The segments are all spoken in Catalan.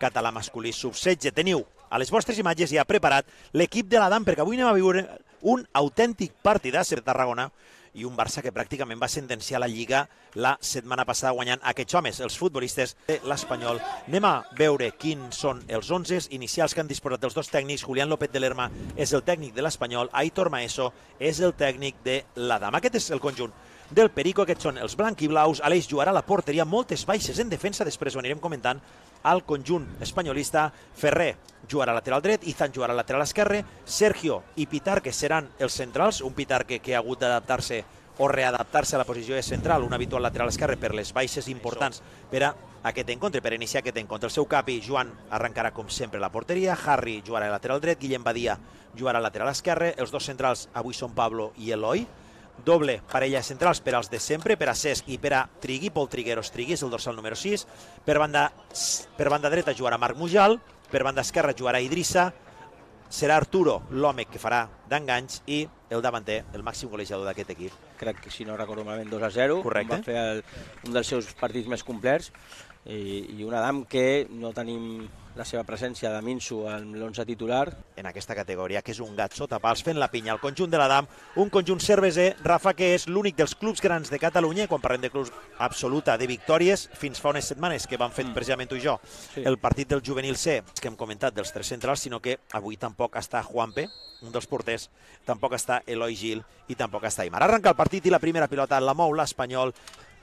català masculí sub-16. Teniu a les vostres imatges ja preparat l'equip de l'Adam, perquè avui anem a viure un autèntic partidàs de Tarragona i un Barça que pràcticament va sentenciar la Lliga la setmana passada guanyant aquests homes, els futbolistes de l'Espanyol. Anem a veure quins són els 11 inicials que han disposat dels dos tècnics. Julián López de Lerma és el tècnic de l'Espanyol, Aitor Maeso és el tècnic de l'Adam. Aquest és el conjunt del Perico, aquests són els blanc-i-blaus. Aleix jugarà a la porteria, moltes baixes en defensa, després ho anirem comentant. Al conjunt espanyolista, Ferrer jugarà a lateral dret, Izan jugarà a lateral esquerre, Sergio i Pitarque seran els centrals, un Pitarque que ha hagut d'adaptar-se o readaptar-se a la posició de central, un habitual lateral esquerre per les baixes importants per a aquest encontre, per iniciar aquest encontre. El seu capi, Joan, arrencarà com sempre la porteria, Harry jugarà a lateral dret, Guillem Badia jugarà a lateral esquerre, els dos centrals avui són Pablo i Eloi, doble parella centrals per als de sempre, per a Cesc i per a Trigui, Pol Trigueros Trigui és el dorsal número 6, per banda dreta jugarà Marc Mujal, per banda esquerra jugarà Idrissa, serà Arturo l'home que farà d'enganys i el davanter, el màxim golejador d'aquest equip. Crec que, si no recordo malament, 2-0. Correcte. Va fer un dels seus partits més complets i un Adam que no tenim la seva presència de Minsu en l'11 titular. En aquesta categoria, que és un gat sota pals fent la pinya. El conjunt de l'Adam, un conjunt cerveser, Rafa, que és l'únic dels clubs grans de Catalunya, quan parlem de clubs absoluta de victòries, fins fa unes setmanes que vam fer precisament tu i jo el partit del juvenil C, que hem comentat dels tres centrals, sinó que avui tampoc està Juanpe, un dels porters, tampoc està Eloi Gil i tampoc està Aimar. Arrenca el partit i la primera pilota la mou l'Espanyol.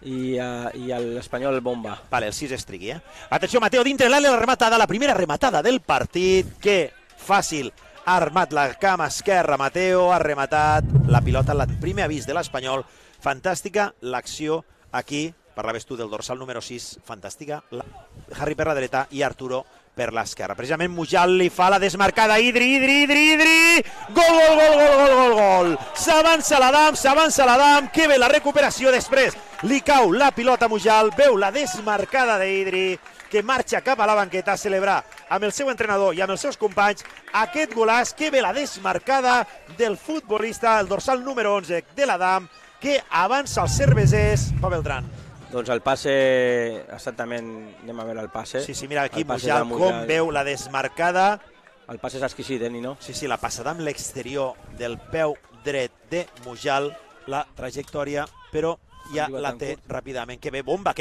I l'Espanyol bomba. Vale, el 6 és Trigui, Atenció, Mateo, dintre l'àrea, la rematada, la primera rematada del partit. Que fàcil ha armat la cama esquerra, Mateo, ha rematat la pilota, el primer avís de l'Espanyol. Fantàstica l'acció aquí, parlaves tu del dorsal número 6, fantàstica. Harry per la dreta i Arturo per l'esquerra. Precisament Mujal li fa la desmarcada, Idri! Gol! S'avança l'Adam, que bé la recuperació després. Li cau la pilota a Mujal, veu la desmarcada d'Idri, que marxa cap a la banqueta a celebrar amb el seu entrenador i amb els seus companys aquest golàs. Que bé la desmarcada del futbolista, el dorsal número 11 de l'Adam, que avança els cervesers. Pa Beltran. Doncs el passe, exactament, anem a veure el passe. Sí, mira aquí Mujal com veu la desmarcada. El passe és exquisit, Nino? Sí, la passada amb l'exterior del peu dret de Mujal, la trajectòria, però ja la té ràpidament. Que bé bomba,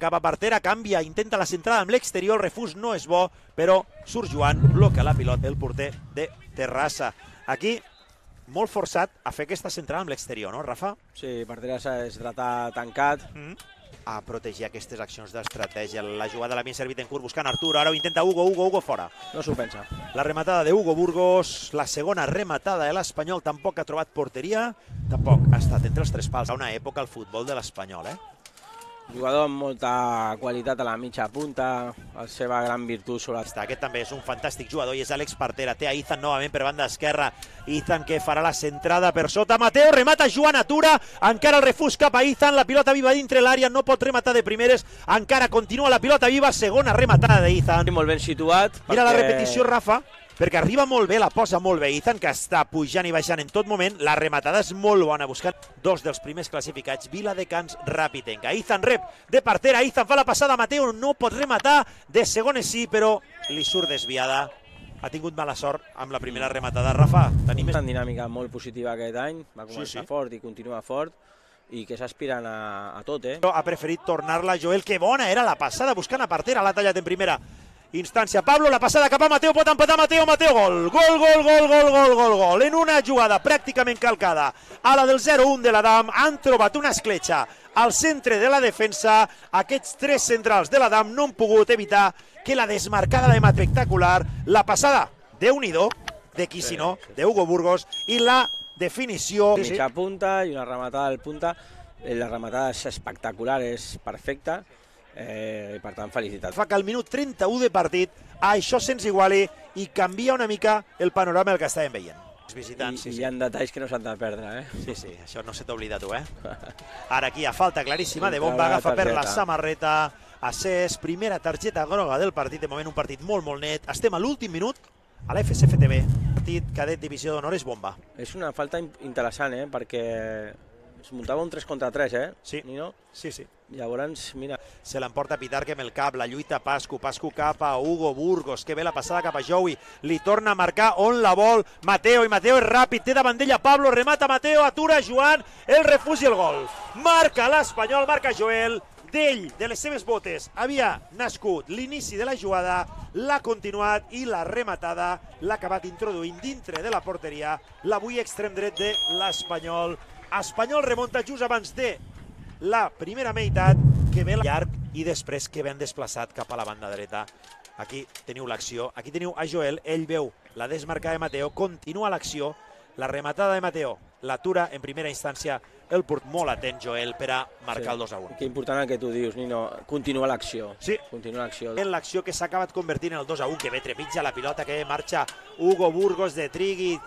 cap a Partera, canvia, intenta la centrada amb l'exterior, el refús no és bo, però surt Joan, bloca la pilota, el porter de Terrassa. Aquí, molt forçat a fer aquesta centrada amb l'exterior, no, Rafa? Sí, Partera es trata tancat. A protegir aquestes accions d'estratègia. La jugada l'havia servit en curt buscant Arturo, ara ho intenta Hugo fora. No s'ho pensa. La rematada de Hugo Burgos, la segona rematada de l'Espanyol, tampoc ha trobat porteria, tampoc ha estat entre els tres pals. A una època al futbol de l'Espanyol, Jugador amb molta qualitat a la mitja punta, la seva gran virtut sobre... Aquest també és un fantàstic jugador i és Àlex Partera. Té a Izan novament per banda esquerra. Izan que farà la centrada per sota. Mateo remata, Joan atura. Encara el refús cap a Izan. La pilota viva dintre l'àrea. No pot rematar de primeres. Encara continua la pilota viva. Segona rematada d'Izan. Molt ben situat. Mira la repetició, Rafa, perquè arriba molt bé, la posa molt bé Izan, que està pujant i baixant en tot moment. La rematada és molt bona, buscant dos dels primers classificats, Viladecans, Rapitenca. Izan rep de Partera, Izan fa la passada, Mateo no pot rematar, de segones sí, però li surt desviada. Ha tingut mala sort amb la primera rematada. Rafa, tenim una dinàmica molt positiva aquest any, va començar fort i continua fort, i que s'aspiren a tot, Ha preferit tornar-la Joel, que bona era la passada, buscant a Partera, l'ha tallat en primera instància. Pablo, la passada cap a Mateo, pot empatar Mateo, gol! Gol! En una jugada pràcticament calcada a la del 0-1 de l'Adam, han trobat una escletxa al centre de la defensa. Aquests tres centrals de l'Adam no han pogut evitar que la desmarcada de Mat espectacular, la passada Déu-n'hi-do, de qui si no, de Hugo Burgos, i la definició... Mitja punta i una rematada al punta. La rematada és espectacular, és perfecta. Per tant, felicitats. Fa que al minut 31 de partit això se'ns iguali i canvia una mica el panorama del que estàvem veient. Els visitants, I hi ha detalls que no s'han de perdre, Sí, això no se t'ha oblidat tu, Ara aquí a falta claríssima de Bomba, agafa per la samarreta a Cesc, primera targeta groga del partit, de moment un partit molt net. Estem a l'últim minut a la FSFTB, partit cadet divisió d'honor és Bomba. És una falta interessant, perquè es muntava un 3 contra 3, Sí. Nino? Sí, sí. Llavors, mira... Se l'emporta Pitarque amb el cap, la lluita Pascu cap a Hugo Burgos, que ve la passada cap a Joey, li torna a marcar on la vol Mateo, i Mateo és ràpid, té davant d'ella Pablo, remata Mateo, atura Joan, el refús i el gol. Marca l'Espanyol, marca Joel, d'ell, de les seves botes, havia nascut l'inici de la jugada, l'ha continuat i la rematada l'ha acabat introduint dintre de la porteria, l'avui extrem dret de l'Espanyol. Espanyol remunta just abans de la primera meitat, que ve llarg i després que ben desplaçat cap a la banda dreta. Aquí teniu l'acció, aquí teniu a Joel, ell veu la desmarcada de Mateo, continua l'acció, la rematada de Mateo, l'atura en primera instància el port, molt atent Joel per a marcar el 2-1. Que important el que tu dius, Nino, continua l'acció. Sí, continua l'acció. En l'acció que s'ha acabat convertint en el 2-1, que ve trepitja la pilota, que marxa Hugo Burgos de Trigui,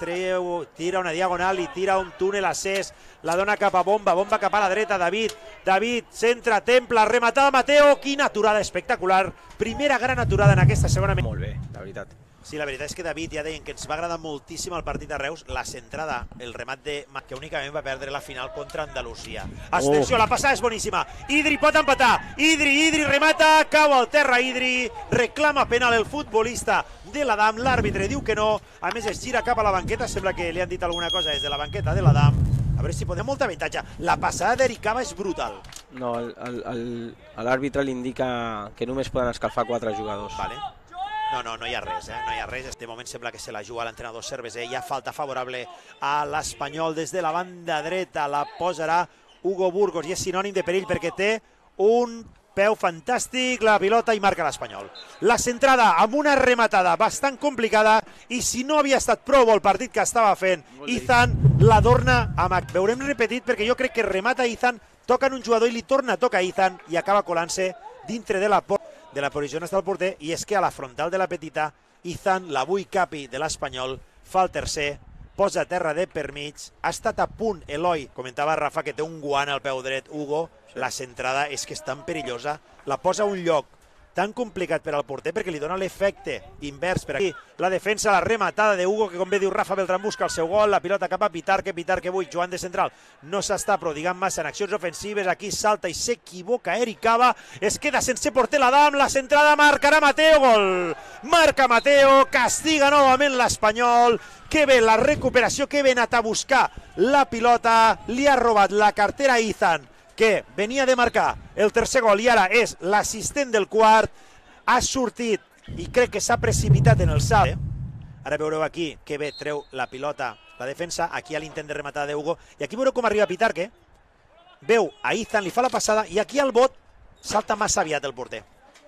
tira una diagonal i tira un túnel a Cés, la dona cap a Bomba, Bomba cap a la dreta, David, centra, templa, rematada Mateo, quina aturada espectacular, primera gran aturada en aquesta segona meitat. Molt bé, la veritat. Sí, la veritat és que David, ja deien que ens va agradar moltíssim el partit de Reus, la centrada, el remat de que únicament va perdre la final contra Andalusia. Atenció, la passada és boníssima, Idri pot empatar, Idri remata, cau al terra Idri, reclama penal el futbolista de l'Adam, l'àrbitre diu que no, a més es gira cap a la banqueta, sembla que li han dit alguna cosa des de la banqueta de l'Adam, a veure si podem molta avantatge. La passada d'Ericava és brutal. No, l'àrbitre li indica que només poden escalfar 4 jugadors. Vale. No hi ha res, no hi ha res. De moment sembla que se la juga l'entrenador Cerveser. Hi ha falta favorable a l'Espanyol des de la banda dreta. La posarà Hugo Burgos i és sinònim de perill perquè té un peu fantàstic, la pilota i marca l'Espanyol. La centrada amb una rematada bastant complicada i si no havia estat prou el partit que estava fent Izan, l'adorna amb... Veurem repetit perquè jo crec que remata Izan, toca en un jugador i li torna a tocar Izan i acaba colant-se dintre de la posició on està el porter, i és que a la frontal de la petita, Izan, l'avui capi de l'Espanyol, fa el tercer, posa a terra de per mig, ha estat a punt Eloi, comentava Rafa que té un guant al peu dret, Hugo, la centrada és que és tan perillosa, la posa a un lloc tan complicat per al porter perquè li dona l'efecte invers per aquí. La defensa, la rematada de Hugo, que com bé diu Rafa Beltrán busca el seu gol, la pilota cap a Pitarque avui, Joan de central, no s'està prodigant massa en accions ofensives, aquí salta i s'equivoca Ericava, es queda sense porter l'Adam, la centrada marcarà Mateo, gol! Marca Mateo, castiga novament l'Espanyol, que bé la recuperació, que bé anat a buscar la pilota, li ha robat la cartera a Izan, que venia de marcar el tercer gol i ara és l'assistent del quart, ha sortit i crec que s'ha precipitat en el salt. Ara veureu aquí que bé treu la pilota la defensa, aquí a l'intent de rematada de Hugo, i aquí veureu com arriba Pitarque, veu a Izan, li fa la passada i aquí al bot salta massa aviat el porter.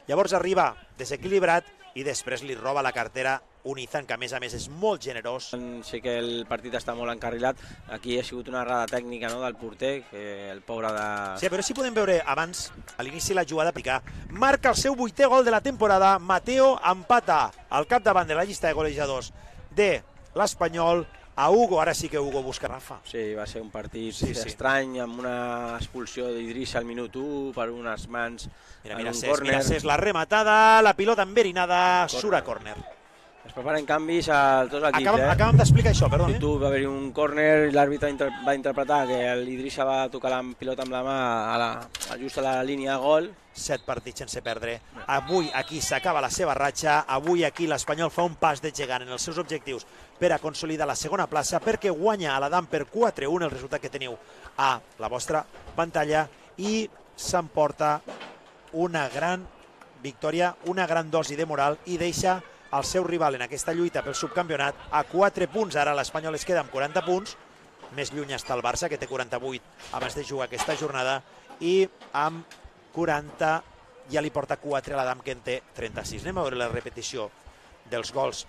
Llavors arriba desequilibrat i després li roba la cartera un Izan que a més és molt generós. Sé que el partit està molt encarrilat, aquí ha sigut una errada tècnica del porter, que el pobre de... Sí, però si podem veure abans, a l'inici de la jugada, picar. Marca el seu 8è gol de la temporada, Mateo empata al capdavant de la llista de golejadors de l'Espanyol a Hugo, ara sí que Hugo busca Rafa. Sí, va ser un partit estrany, amb una expulsió d'Idrissa al minut 1 per unes mans en un córner. Mira Cés, la rematada, la pilota enverinada, surt a córner. Es preparen canvis a tots els equips. Acabem d'explicar això, perdó. Tu va haver-hi un córner, l'àrbitre va interpretar que l'Idrissa va tocar la pilota amb la mà just a la línia de gol. 7 partits sense perdre. Avui aquí s'acaba la seva ratxa, avui aquí l'Espanyol fa un pas de gegant en els seus objectius per a consolidar la segona plaça, perquè guanya a l'Adam per 4-1, el resultat que teniu a la vostra pantalla, i s'emporta una gran victòria, una gran dosi de moral, i deixa el seu rival en aquesta lluita pel subcampionat a 4 punts. Ara l'Espanyol es queda amb 40 punts, més lluny està el Barça, que té 48 abans de jugar aquesta jornada, i amb 40 ja li porta 4 a l'Adam, que en té 36. Anem a veure la repetició dels gols